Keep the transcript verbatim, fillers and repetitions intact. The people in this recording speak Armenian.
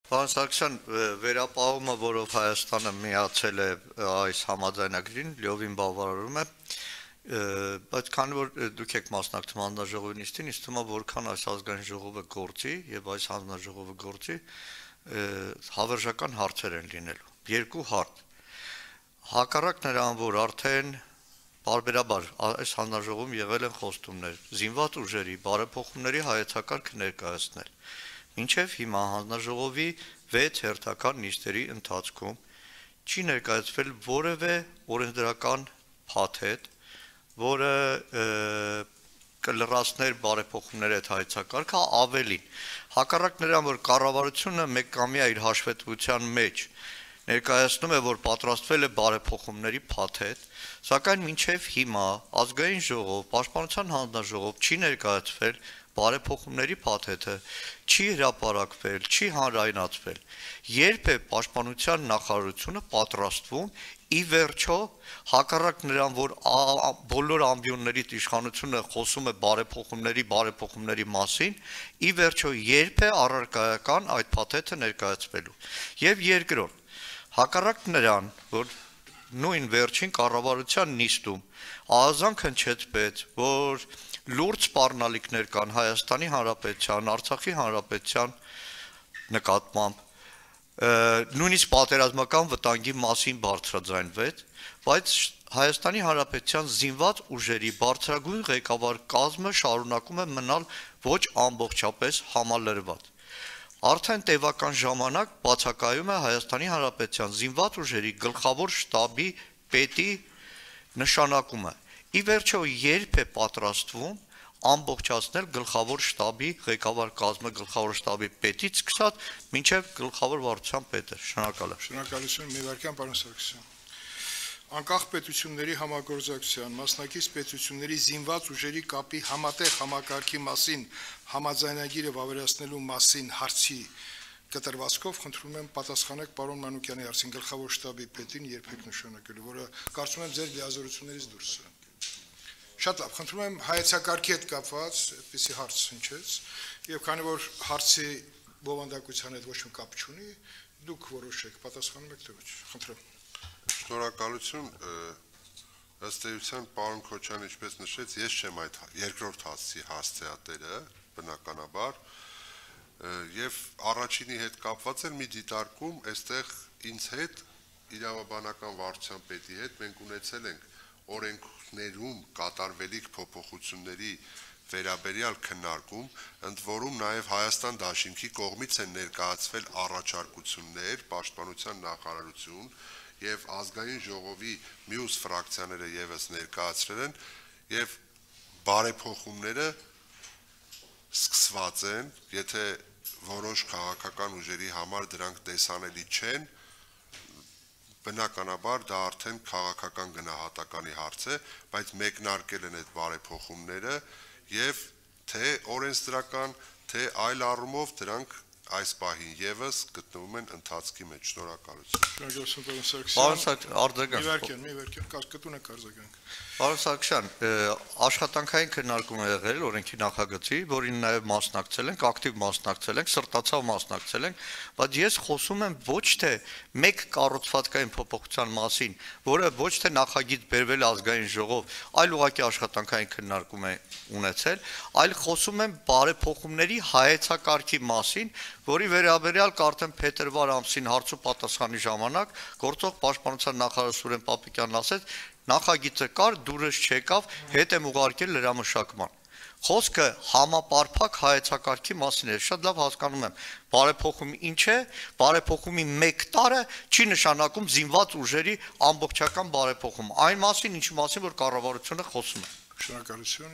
Պարոն Սարգսյան, վերապահումը, որով Հայաստանը միացել է այս համաձայնագրին, լիովին բավարարում է, բայց քանի որ դուք եք մասնակցում հանձնաժողովի նիստին, ինձ թվում է, որքան այս ազգային ժողովը գործի եւ այս հանձնաժողովը գործի, հավերժական հարցեր են լինելու։ Երկու հարց։ Հակառակ նրան, որ արդեն բարբերաբար այս հանձնաժողովում եղել են խոստումներ զինված ուժերի բարեփոխումների հայեցակարգը ներկայացնել։ Մինչև հիմա հանձնաժողովի վեց հերթական նիստերի ընթացքում չի ներկայացվել որևէ օրենսդրական փաթեթ, որը կլրացներ բարեփոխումների այդ հայեցակարգը, ավելին։ Հակառակ նրան, որ կառավարությունը մեկկամյա իր հաշվետվության մեջ ներկայացնում է, որ պատրաստվել է բարեփոխումների փաթեթ, սակայն մինչև հիմա ազգային ժողով, պաշտպանության հանձնաժողով չի ներկայացվել բարեփոխումների փաթեթը, չի հրապարակվել, չի հանրայնացվել։ Երբ է պաշտպանության նախարարությունը պատրաստվում ի վերջո, հակառակ նրան, որ բոլոր ամբիոններից իշխանությունը խոսում է բարեփոխումների, բարեփոխումների մասին, ի վերջո երբ է առարկայական այդ փաթեթը ներկայացվելու։ Եվ երկրորդ, հակառակ նրան, որ նույն վերջին կառավարության նիստում ահազանգ հնչեցվեց, որ լուրջ սպառնալիքներ կան Հայաստանի Հանրապետության, Արցախի Հանրապետության նկատմամբ, նույնիսկ պատերազմական վտանգի մասին բարձրաձայնվեց, բայց Հայաստանի Հանրապետության զինված ուժերի բարձրագույն ղեկավար կազմը շարունակում է մնալ ոչ ամբողջապես համալրված։ Արդեն տևական ժամանակ բացակայում է Հայաստանի Հանրապետության զինված ուժերի գլխավոր շտաբի պետի նշանակումը։ Ի վերջո երբ է պատրաստվում ամբողջացնել գլխավոր շտաբի ղեկավար կազմը, գլխավոր շտաբի պետից սկսած մինչև գլխավոր վարչության պետը։ Շնորհակալ եմ։ Շնորհակալություն, մի վարքյան, պարոն Սարգսյան։ Անկախ պետությունների համագործակցության, մասնակից պետությունների զինված ուժերի կապի համատեղ համակարգի մասին համաձայնագիրը վավերացնելու մասին հարցի կտրվածքով խնդրում եմ պատասխանեք պարոն Մանուկյանի հարցին, գլխավոր շտաբի պետին երբեք նշանակելու, որը կարծում եմ ձեր լիազորություններից դուրս է։ Շատ լավ, խնդրում եմ հայեցակարգի հետ կապված այդպիսի հարց հնչեց, եւ քանի որ հարցի բովանդակության հետ ոչ մի կապ չունի, դուք որոշեք, պատասխանում եք թե ոչ։ Խնդրեմ։ Շնորհակալություն, ըստ էության պարոն Քոչարյանը ինչպես նշեց, ես չեմ այդ երկրորդ հարցի հասցեատերը, բնականաբար, եւ առաջինի հետ կապված էր մի դիտարկում, այստեղ ինձ հետ իրավաբանական վարչության պետի հետ մենք ունեցել ենք օրենքներում կատարվելիք փոփոխությունների վերաբերյալ քննարկում, ընդ որում նաև Հայաստան Դաշինքի կողմից են ներկայացվել առաջարկություններ, պաշտպանության նախարարություն եւ ազգային ժողովի մյուս ֆրակցիաները եւս ներկայացրել են եւ բարեփոխումները սկսված են, եթե որոշ քաղաքական ուժերի համար դրանք տեսանելի չեն, բնականաբար դա արդեն քաղաքական գնահատականի հարց է, բայց մեկնարկել են այդ բարեփոխումները եւ թե օրենսդրական, թե այլ առումով դրանք այս պահին եւս գտնվում են ընթացքի մեջ։ Շնորհակալություն։ Շնորհակալություն, Պարոն Սարգսյան, արձագանք։ Մի վարքյան, մի վարքյան, կարգտունեք արձագանք։ Պարոն Սարգսյան, աշխատանքային քննարկում է եղել օրենքի նախագծի, որին նաև մասնակցել ենք, ակտիվ մասնակցել ենք, սրտացավ մասնակցել ենք, բայց ես խոսում եմ ոչ թե մեկ կառուցվածքային փոփոխության մասին, որը ոչ թե նախագիծ բերվել ազգային ժողով, այլ ուղղակի աշխատանքային քննարկում է ունեցել, այլ խոսում եմ բարեփոխումների հայեցակարգի մասին, որի վերաբերյալ արդեն փետրվար ամսին հարց ու պատասխանի ժամանակ գործող պաշտպանության նախարար Սուրեն Պապիկյանն ասեց, նախագիծը կար, դուրս չեկավ, հետ եմ ուղարկել լրամշակման։ Խոսքը համապարփակ հայեցակարգի մասին է, շատ լավ հասկանում եմ, բարեփոխումը ինչ է, բարեփոխումի մեկ տարը չի նշանակում զինված ուժերի ամբողջական բարեփոխում, այն մասին, ինչի մասին, որ կառավարությունը խոսում է։ Շնորհակալություն։